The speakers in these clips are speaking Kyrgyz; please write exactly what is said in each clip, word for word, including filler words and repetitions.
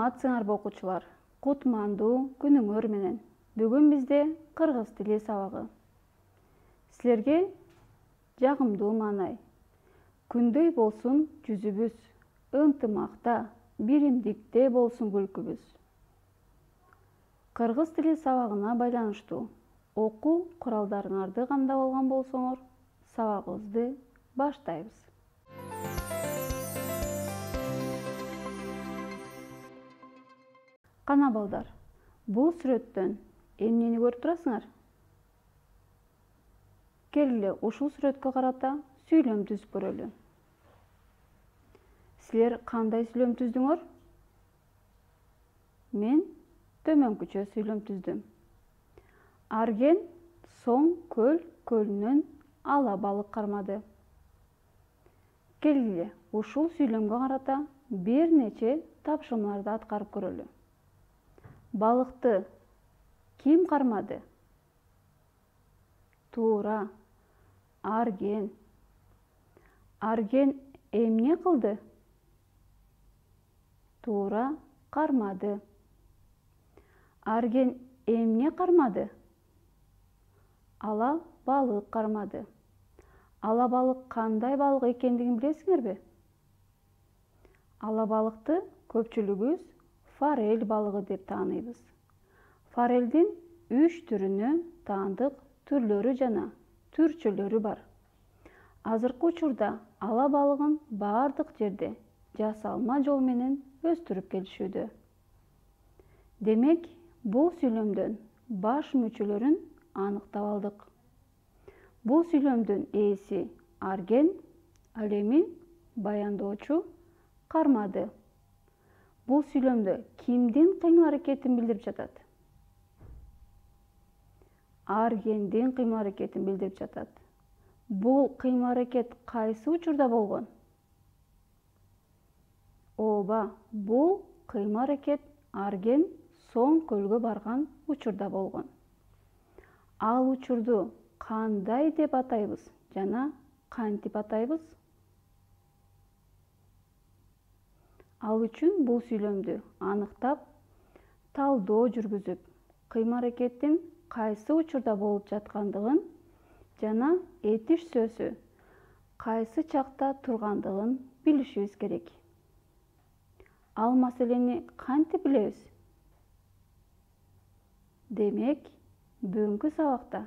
Саламатсыңарбы окуучулар? Кутмандуу күнүңөр менен. Бүгүн бизде кыргыз тили сабагы. Силерге жагымдуу маанай. Күндөй болсун жүзүбүз, ынтымакта, биримдикте болсун күлкүбүз. Кыргыз тили сабагына байланыштуу окуу куралдарыңарды камдап алган болсоңор, сабагыбызды баштайбыз. Кана балдар, бул сүрөттөн эмнени көрүп турасыңар? Келгиле ушул сүрөткө карата сүйлөм түзүп көрөлү. Силер кандай сүйлөм түздүңөр? Мен төмөнкүчө сүйлөм түздүм. Арген Соң көл көлүнөн ала балык кармады. Келгиле ушул сүйлөмгө карата бир нече тапшырмаларды аткарып көрөлү. Балыкты ким кармады? Туура, Арген. Арген эмне кылды? Туура, кармады. Арген эмне кармады? Ала балык кармады. Ала балык кандай балык экендигин билесиңерби? Ала балыкты көпчүлүгүбүз форель балыгы деп тааныйбыз. Форелдин үч түрүнө таандык түрлөрү жана түрчөлөрү бар. Азыркы учурда ала балыгын бардык жерде жасалма жол менен өстүрүп келишүүдө. Демек, бул сүйлөмдөн баш мүчөлөрүн аныктап алдык. Бул сүйлөмдүн ээси Арген, ал эми баяндоочу кармады. Бул сүйлөмдө кимдин кыймыл аракетин билдирип жатат? Аргендин кыймыл аракетин билдирип жатат. Бул кыймыл аракет кайсы учурда болгон? Ооба, бул кыймыл аракет Арген Соң көлгө барган учурда болгон. Ал учурду кандай деп атайбыз жана кантип атайбыз? Ал үчүн бул сүйлөмдү аныктап, талдоо жүргүзүп, кыймыл аракеттин кайсы учурда болуп жаткандыгын жана этиш сөзү кайсы чакта тургандыгын билишибиз керек. Ал маселени кантип билебиз? Демек, бүгүнкү сабакта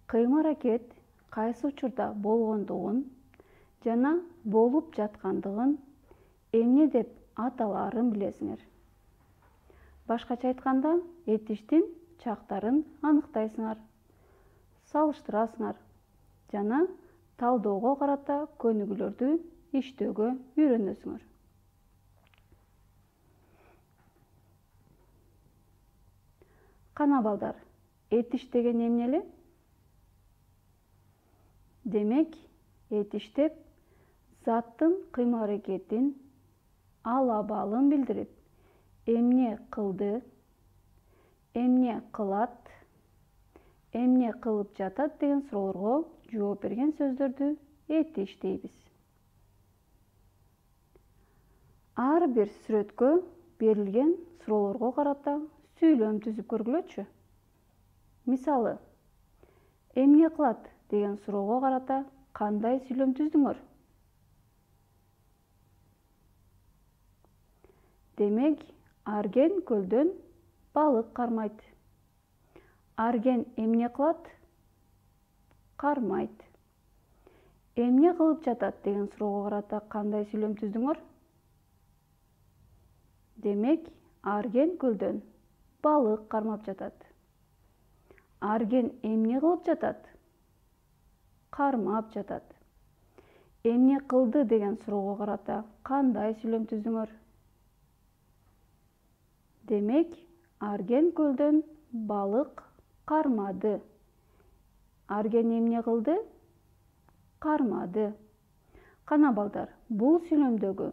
кыймыл аракет кайсы учурда болгондугун жана болуп жаткандыгын эмне деп аталаарын билесиңер. Башкача айтканда, этиштин чактарын аныктайсыңар, салыштырасыңар жана талдоого карата көнүгүүлөрдү иштөөгө үйрөнөсүңөр. Кана балдар, этиш деген эмне эле? Демек, этиш деп заттын кыймыл аракетин, ала балын билдирип, эмне кылды, эмне кылат, эмне кылып жатат деген суроолорго жооп берген сөздөрдү этиш дейбиз. Ар бир сүрөткө берилген суроолорго карата сүйлөм түзүп көргүлөчү. Мисалы, эмне кылат деген суроого карата кандай сүйлөм түздүңөр? Демек, Арген көлдөн балык кармайт. Арген эмне кылат? Кармайт. Эмне кылып жатат деген суроого карата кандай сүйлөм түздүңөр? Демек, Арген көлдөн балык кармап жатат. Арген эмне кылып жатат? Кармап жатат. Эмне кылды деген суроого карата кандай сүйлөм түздүңөр? Демек, Арген көлдөн балык кармады. Арген эмне кылды? Кармады. Кана балдар, бул сүйлөмдөгү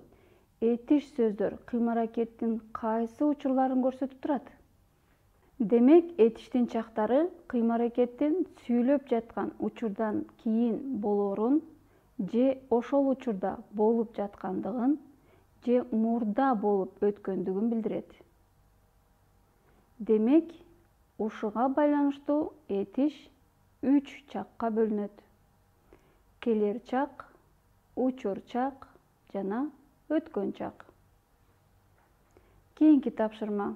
этиш сөздөр кыймыл аракеттин кайсы учурларын көрсөтүп турат? Демек, этиштин чактары кыймыл аракеттин сүйлөп жаткан учурдан кийин болоорун же ошол учурда болуп жаткандыгын же мурда болуп өткөндүгүн билдирет. Демек, ушуга байланыштуу этиш үч чакка бөлүнөт: келер чак, учур чак жана өткөн чак. Кийинки тапшырма: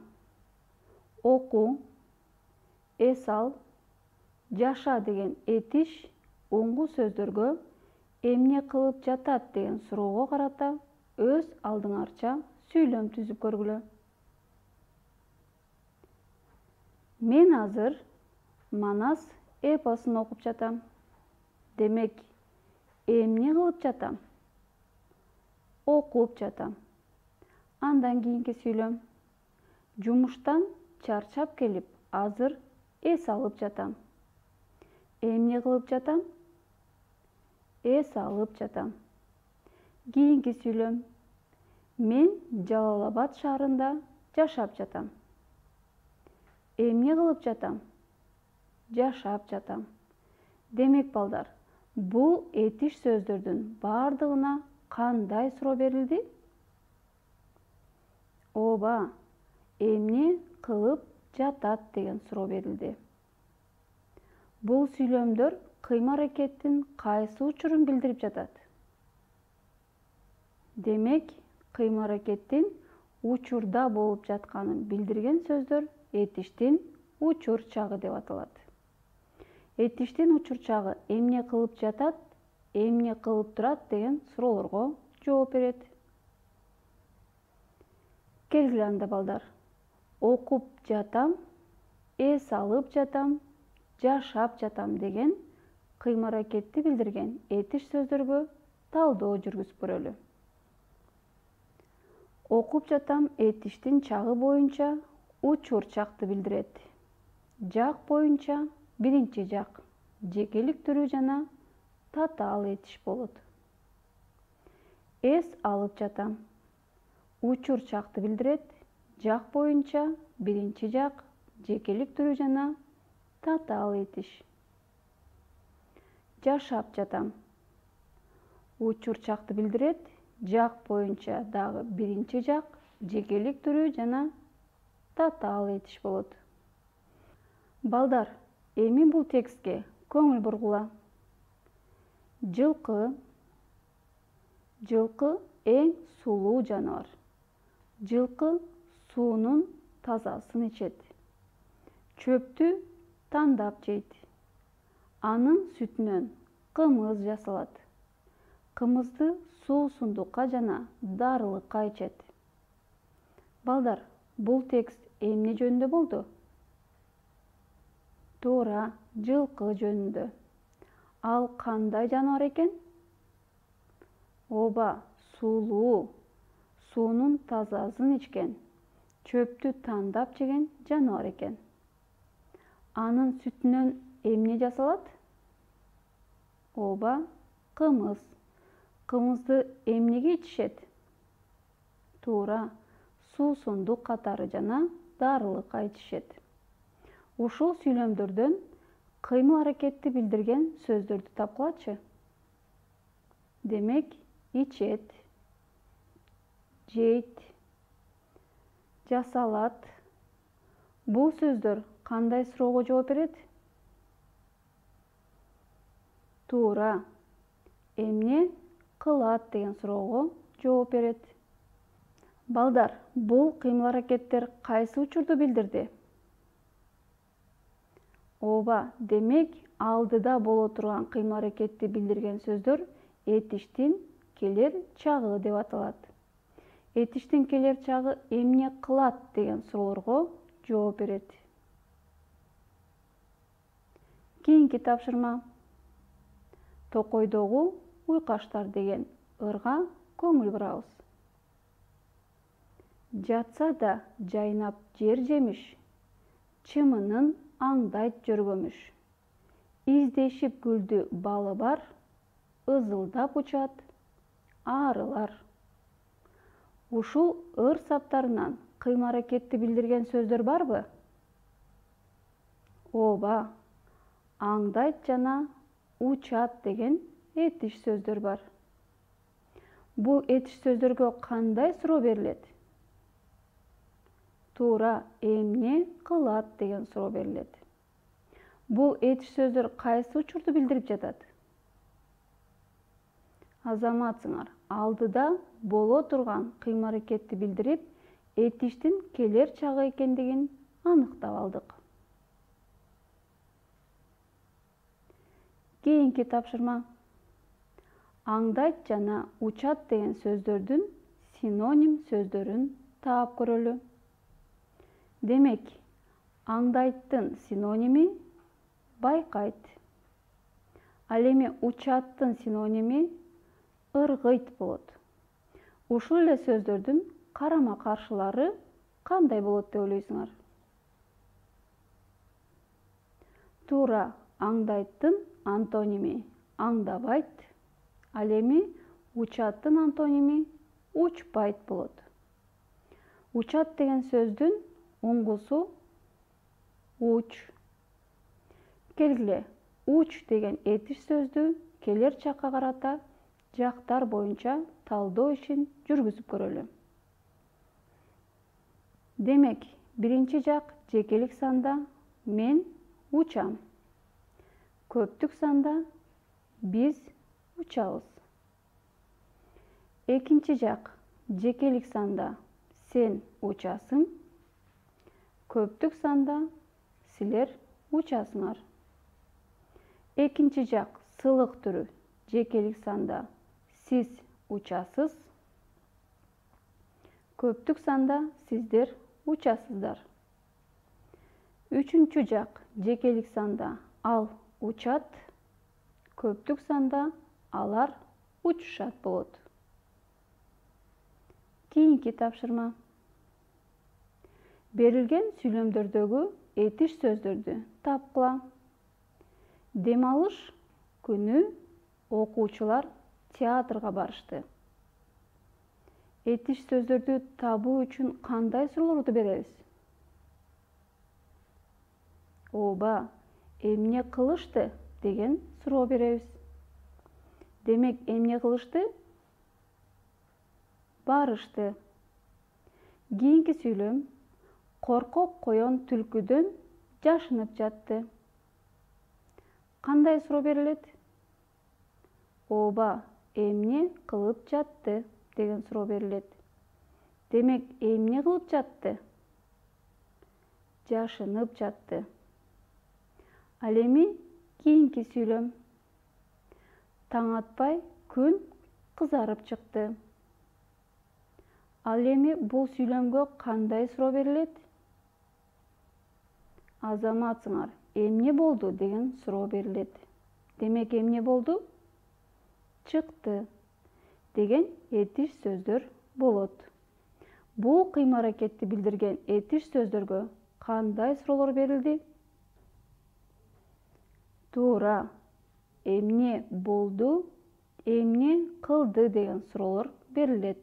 оку, эс ал, жаша деген этиш уңгу сөздөргө эмне кылып жатат деген суроого карата өз алдыңарча сүйлөм түзүп көргүлө. Мен азыр Манас эпосун окуп жатам. Демек, эмне кылып жатам? Окуп жатам. Андан кийинки сүйлөм: жумуштан чарчап келип, азыр эс алып жатам. Эмне кылып жатам? Эс алып жатам. Кийинки сүйлөм: мен Жалал Абад шаарында жашап жатам. Эмне кылып жатам? Жашап жатам. Демек балдар, бул этиш сөздөрдүн бардыгына кандай суроо берилди? Ооба, эмне кылып жатат деген суроо берилди. Бул сүйлөмдөр кыймыл-аракеттин кайсы учурун билдирип жатат? Демек, кыймыл-аракеттин учурда болуп жатканын билдирген сөздөр этиштин учур чагы деп аталат. Этиштин учур чагы эмне кылып жатат, эмне кылып турат деген суроолорго жооп берет. Келгиле анда балдар. Окуп жатам, эс алып жатам, жашап жатам деген кыймыл-аракетти билдирген этиш сөздөргө талдоо жүргүзүп көрөлү. Окуп жатам этиштин чагы боюнча учур чакты билдирет. Жак боюнча биринчи жак, жекелик түрү жана татаал этиш болот. Эс алып жатам учур чакты билдирет. Жак боюнча биринчи жак, жекелик түрү жана татаал этиш. Жашап жатам учур чакты билдирет. Жак боюнча дагы биринчи жак, жекелик түрү жана татаал этиш болот. Балдар, эми бул текстке көңүл бургула. Жылкы. Жылкы эң сулуу жаныбар. Жылкы суунун тазасын ичет. Чөптү тандап жейт. Анын сүтүнөн кымыз жасалат. Кымызды суусундукка жана дарылыкка ичет. Балдар, бул текст эмне жөнүндө болду? Туура, жылкы жөнүндө. Ал кандай жаныбар экен? Ооба, сулуу, суунун тазасын ичкен, чөптү тандап жеген жаныбар экен. Анын сүтүнөн эмне жасалат? Ооба, кымыз. Кымызды эмнеге ичишет? Туура, суусундук катары жана дарылыкка ичишет. Ушул сүйлөмдөрдөн кыймыл-аракетти билдирген сөздөрдү тапкылачы. Демек, ичет, жейт, жасалат. Бул сөздөр кандай суроого жооп берет? Туура, эмне кылат деген суроого жооп берет. Балдар, бул кыймыл-аракеттер кайсы учурду билдирди? Ооба, демек, алдыда боло турган кыймыл-аракетти билдирген сөздөр этиштин келер чагы деп аталат. Этиштин келер чагы эмне кылат деген суроолорго жооп берет. Кийинки тапшырма: Токойдогу уйкаштар деген ырга көңүл бурабыз. Жатса да жайнап жер жемиш, чымынын аңдайт жөргөмүш. Издешип гүлдү балы бар, ызылдап учат арылар. Ушул ыр саптарынан кыймыл-аракетти билдирген сөздөр барбы? Ооба, аңдайт жана учат деген этиш сөздөр бар. Бул этиш сөздөргө кандай суроо берилет? Туура, эмне кылат деген суроо берилет. Бул этиш сөздөр кайсы учурду билдирип жатат? Азаматсыңар, алдыда боло турган кыймыл-аракетти билдирип, этиштин келер чагы экендигин аныктап алдык. Кийинки тапшырма. Аңдайт жана учат деген сөздөрдүн синоним сөздөрүн таап көрөлү. Демек, аңдайттын синоними байкайт. Ал эми учаттын синоними ыргыйт болот. Ушул эле сөздөрдүн карама-каршылары кандай болот деп ойлойсуңар? Туура, аңдайттын антоними аңдабайт, ал эми учаттын антоними учпайт болот. Учат деген сөздүн уңгусу уч. Келгиле, уч деген этиш сөздү келер чакка карата жактар боюнча талдоо ишин жүргүзүп көрөлү. Демек, биринчи жак жекелик санда мен учам. Көптүк санда биз учабыз. Экинчи жак жекелик санда сен учасың. Көптүк санда силер учасыңар. Экинчи жак сылык түрү жекелик санда сиз учасыз. Көптүк санда сиздер учасыздар. Үчүнчү жак жекелик санда ал учат. Көптүк санда алар учушат болот. Кийинки тапшырма. Берилген сүйлөмдөрдөгү этиш сөздөрдү тапкыла. Дем алыш күнү окуучулар театрга барышты. Этиш сөздөрдү табуу үчүн кандай суроолорду беребиз? Ооба, эмне кылышты деген суроо беребиз. Демек, эмне кылышты? Барышты. Кийинки сүйлөм коркок коен түлкүдөн жашынып жатты. Кандай суроо берилет? Ооба, эмне кылып жатты деген суроо берилет. Демек, эмне кылып жатты? Жашынып жатты. Ал эми кийинки сүйлөм. Таң атпай күн кызарып чыкты. Ал эми бул сүйлөмгө кандай суроо берилет? Азаматсыңар, эмне болду деген суроо берилет. Демек, эмне болду? Чыкты деген этиш сөздөр болот. Бул кыймыл-аракетти билдирген этиш сөздөргө кандай суроолор берилди? Туура, эмне болду, эмне кылды деген суроолор берилет.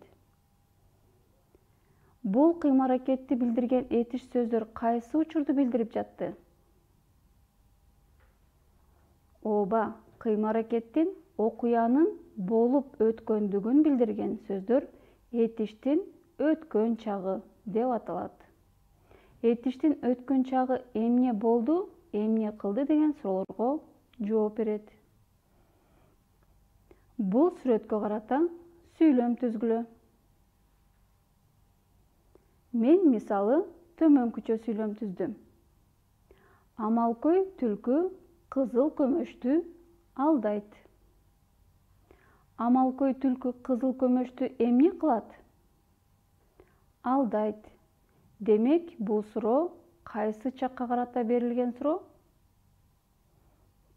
Бул кыймыл-аракетти билдирген этиш сөздөр кайсы учурду билдирип жатты? Ооба, кыймыл-аракеттин окуянын болуп өткөндүгүн билдирген сөздөр этиштин өткөн чагы деп аталат. Этиштин өткөн чагы эмне болду, эмне кылды деген суроолорго жооп берет. Бул сүрөткө карата сүйлөм түзгүлө. Мен мисалы төмөнкүчө сүйлөм түздүм. Амалкөй түлкү кызыл көмөчтү алдайт. Амалкөй түлкү кызыл көмөчтү эмне кылат? Алдайт. Демек, бул суроо кайсы чакка карата берилген суроо?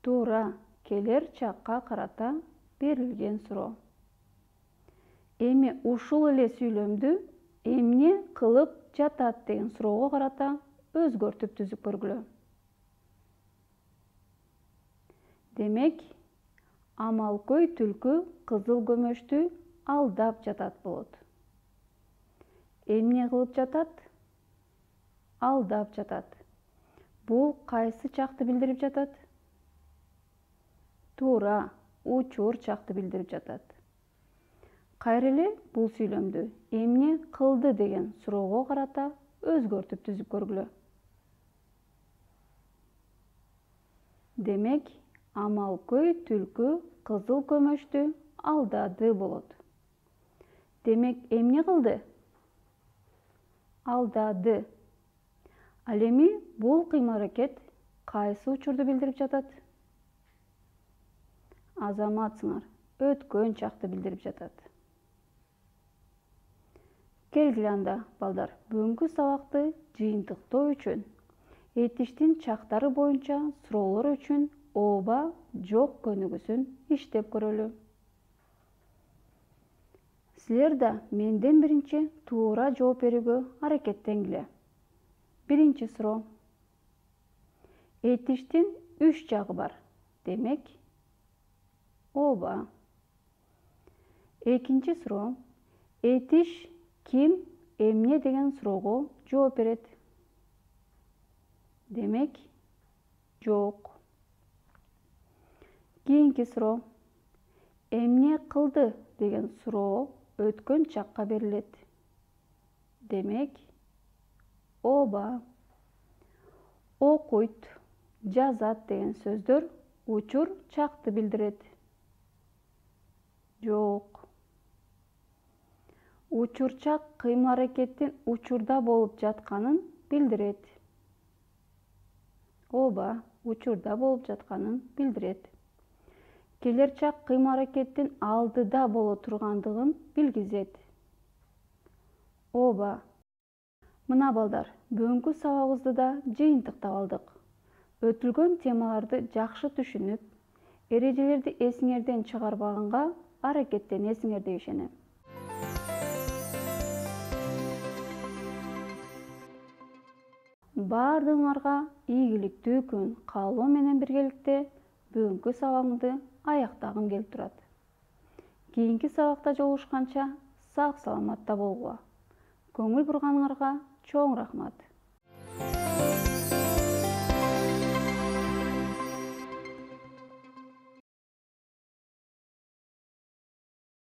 Туура, келер чакка карата берилген суроо. Эми ушул эле сүйлөмдү эмне кылып жатат деген суроого карата өзгөртүп түзүп көргүлө. Демек, амалкөй түлкү кызыл көмөчтү алдап жатат болот. Эмне кылып жатат? Алдап жатат. Бул кайсы чакты билдирип жатат? Туура, учур чакты билдирип жатат. Кайра эле бул сүйлөмдү эмне кылды деген суроого карата өзгөртүп түзүп көргүлө. Демек, Амалкөй түлкү кызыл көмөчтү алдады болот. Демек, эмне кылды? Алдады. Ал эми бул кыймыл-аракет кайсы учурду билдирип жатат? Азаматсыңар, өткөн чакты билдирип жатат. Келгиле анда, балдар, бүгүнкү сабакты жыйынтыктоо үчүн этиштин чактары боюнча суроолор үчүн ооба, жок көнүгүүсүн иштеп көрөлү. Силер да менден биринчи туура жооп берүүгө аракеттенгиле. Биринчи суроо. Этиштин үч жагы бар. Демек, ооба. Экинчи суроо. Этиш ким, эмне деген суроого жооп берет. Демек, жок. Кийинки суроо. Эмне кылды деген суроо өткөн чакка берилет. Демек, ооба. Окуйт, жазат деген сөздөр учур чакты билдирет. Жок. Учурчак кыймыл-аракеттин учурда болуп жатканын билдирет. Ооба, учурда болуп жатканын билдирет. Келерчак кыймыл-аракеттин алдыда боло тургандыгын билгизет. Ооба. Мына балдар, бүгүнкү сабагыбызды да жыйынтыктап алдык. Өтүлгөн темаларды жакшы түшүнүп, эрежелерди эсиңерден чыгарбаганга аракеттенесиңер деп ишенем. Баардыгыңарга ийгиликтүү күн каалоо менен биргеликте бүгүнкү сабагымды аяктагым келип турат. Кийинки сабакта жолугушканча сак саламатта болгула. Көңүл бурганыңарга чоң рахмат.